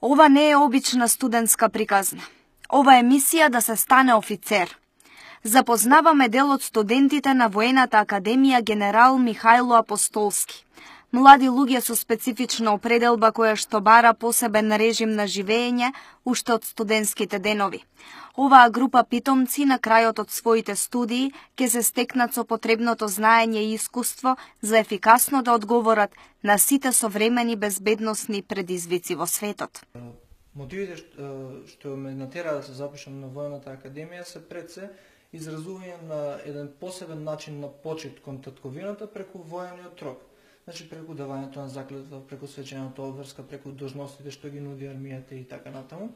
Ова не е обична студентска приказна. Ова е мисија да се стане офицер. Запознаваме дел од студентите на Воената академија генерал Михајло Апостолски. Млади луѓе со специфична определба која што бара посебен режим на живење уште од студентските денови. Оваа група питомци на крајот од своите студии ќе се стекнат со потребното знаење и искуство за ефикасно да одговорат на сите современи безбедносни предизвици во светот. Мотивите што ме натера да се запишам на Воената академија се пред се изразување на еден посебен начин на почит кон татковината преку воениот рок. Значи преку давањето на заклетва, преку свечената обврска, преку должностите што ги нуди армијата и така натаму.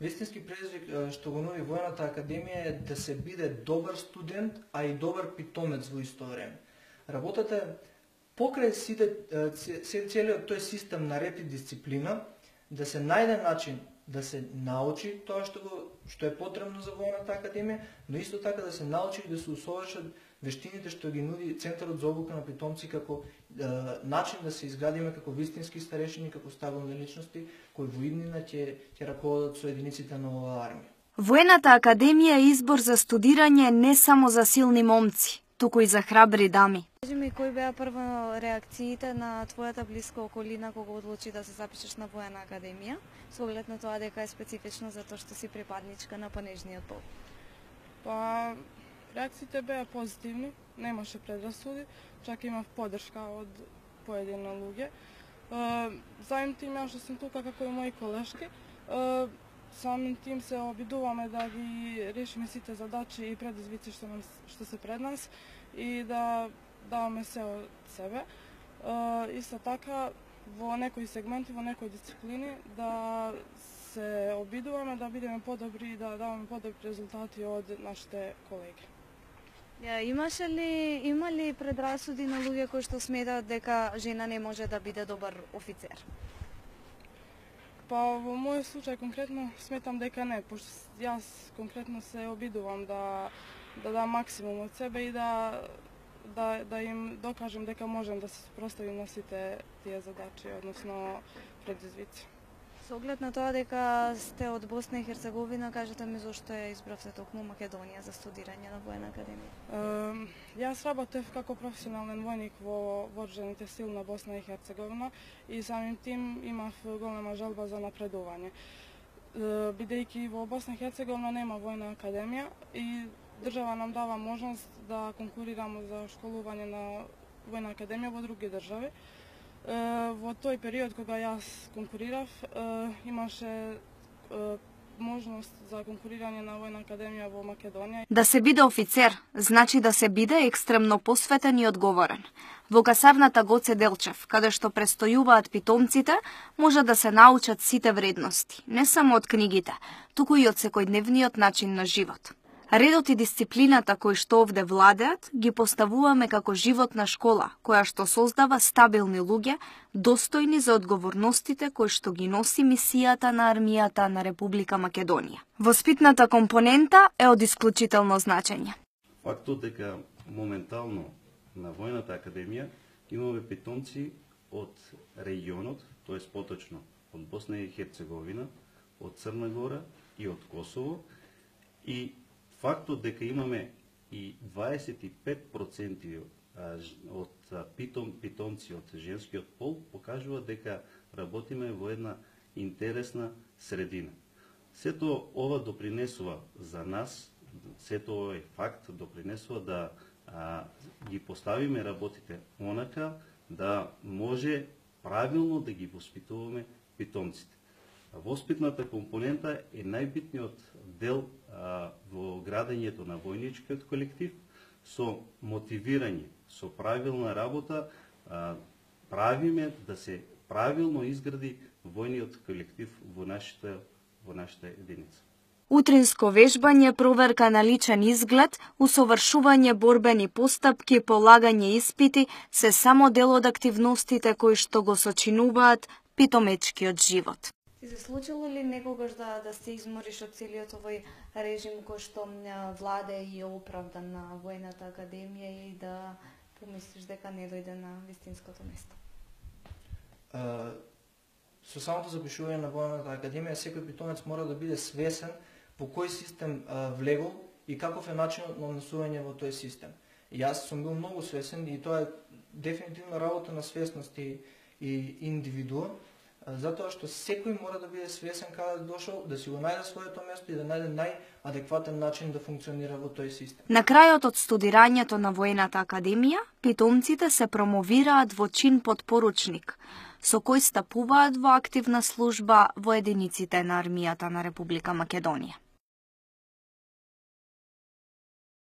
Вистински предизвик што го нуди Воената академија е да се биде добар студент, а и добар питомец во исто време. Работата е покрај целиот тој систем на ред и дисциплина, да се најде начин да се научи тоа што е потребно за Воената академија, но исто така да се научи и да се усовршат вештините што ги нуди Центарот за обука на питомци како начин да се изградиме како вистински старешини, како стабилни личности кои во иднина ќе раководат со единиците на оваа армија. Воената академија е избор за студирање не само за силни момци, туку и за храбри дами. Кажи ми, кои беа прво реакциите на твојата блиска околина кога одлучи да се запишеш на Воена академија, со оглед на тоа дека е специфично затоа што си припадничка на понежниот пол? Па, реакциите беа позитивни, немаше предрасуди, чак имав поддршка од поедини луѓе. Заедно тим ја што сум тука како и мои колешки, самим тим се обидуваме да ги решиме сите задачи и предизвици што се пред нас и да даваме се од себе. Исто така, во некои сегменти, во некои дисциплини, да се обидуваме да бидеме подобри и да даваме подобри резултати од нашите колеги. Има ли предрасуди на луѓе кои што сметаат дека жена не може да биде добар офицер? Па во мојот случај конкретно сметам дека не, пошто јас конкретно се обидувам да дам максимум од себе и да им докажам дека можам да се спроставим на сите тие задачи, односно предизвици. Со оглед на тоа дека сте од Босна и Херцеговина, кажете ми зошто ја избравте токму Македонија за студирање на Воена академија? Јас работев како професионален војник во вооружените сили на Босна и Херцеговина и самим тим имав голема желба за напредување. Бидејќи во Босна и Херцеговина нема Воена академија и држава нам дава можност да конкурираме за школување на Воена академија во други држави. Во тој период кога јас конкурирав, имаше можност за конкурирање на Воена академија во Македонија. Да се биде офицер, значи да се биде екстремно посветен и одговорен. Во касарната Гоце Делчев, каде што престојуваат питомците, може да се научат сите вредности, не само од книгите, туку и од секојдневниот начин на живот. Редот и дисциплината кои што овде владеат ги поставуваме како животна школа, која што создава стабилни луѓе, достојни за одговорностите кои што ги носи мисијата на армијата на Република Македонија. Воспитната компонента е од исклучително значење. Фактот дека моментално на Воената академија имаме питомци од регионот, тоест поточно од Босна и Херцеговина, од Црна Гора и од Косово, и фактот дека имаме и 25% од питомци од женскиот пол покажува дека работиме во една интересна средина. Сето ова допринесува за нас, сето овој факт допринесува да ги поставиме работите онака да може правилно да ги воспитуваме питомците. Воспитната компонента е најбитниот дел во градењето на војничкиот колектив, со мотивирање, со правилна работа, правиме да се правилно изгради војниот колектив во нашата единица. Утринско вежбање, проверка на личен изглед, усовршување борбени постапки, полагање испити се само дел од активностите кои што го сочинуваат питомечкиот живот. Ти се случило ли некогаш да се измориш од целиот овој режим кој што владе и е оправдан на Воената академија и да помислиш дека не дојде на вистинското место? со самото запишување на војната академија секој питомец мора да биде свесен во кој систем влегол и каков е начинот на однесување во тој систем. И јас сум бил многу свесен и тоа е дефинитивно работа на свесност и индивидуум, затоа што секој мора да биде свесен каде дошол, да си го најде своето место и да најде најадекватен начин да функционира во тој систем. На крајот од студирањето на војната академија, питомците се промовираат во чин подпоручник, со кој стапуваат во активна служба во единиците на армијата на Република Македонија.